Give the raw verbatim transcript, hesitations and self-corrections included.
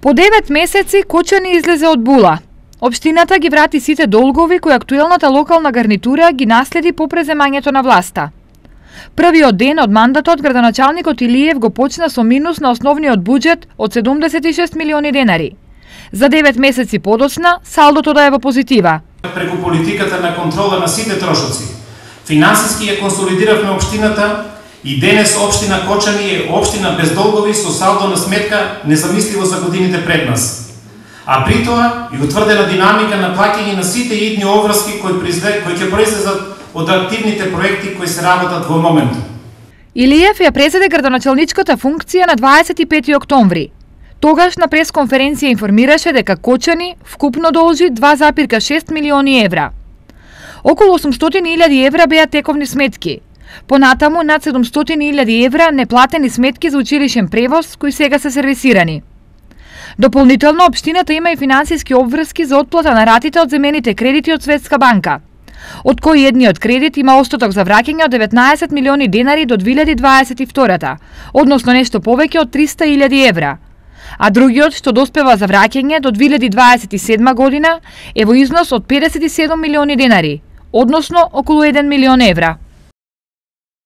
По девет месеци Кочани излезе од була. Општината ги врати сите долгови кои актуелната локална гарнитура ги наследи по преземањето на власта. Првиот ден од мандатот градоначалникот Илиев го почна со минус на основниот буџет од седумдесет и шест милиони денари. За девет месеци подоцна салдото да е во позитива. Преку политиката на контрола на сите трошоци, финансиски ја консолидиравме општината и денес општина Кочани е општина без долгови со салдо на сметка незамисливо за годините пред нас. А при тоа и утврдена динамика на плаќање на сите идни обврски кои кои ќе произлезат од активните проекти кои се работат во моментот. Илиев ја презеде градоначалничката функција на дваесет и пети октомври. Тогаш на пресконференција информираше дека Кочани вкупно должи два запирка шест милиони евра. Околу осумстотини илјади евра беа тековни сметки. Понатаму над седумстотини илјади евра неплатени сметки за училишен превоз кои сега се сервисирани. Дополнително, општината има и финансиски обврски за отплата на ратите од земените кредити од Светска банка, од кои едниот кредит има остаток за враќање од деветнаесет милиони денари до две илјади дваесет и втора, односно нешто повеќе од триста илјади евра. А другиот, што доспева за враќање до две илјади дваесет и седма година, е во износ од педесет и седум милиони денари, односно околу еден милион евра.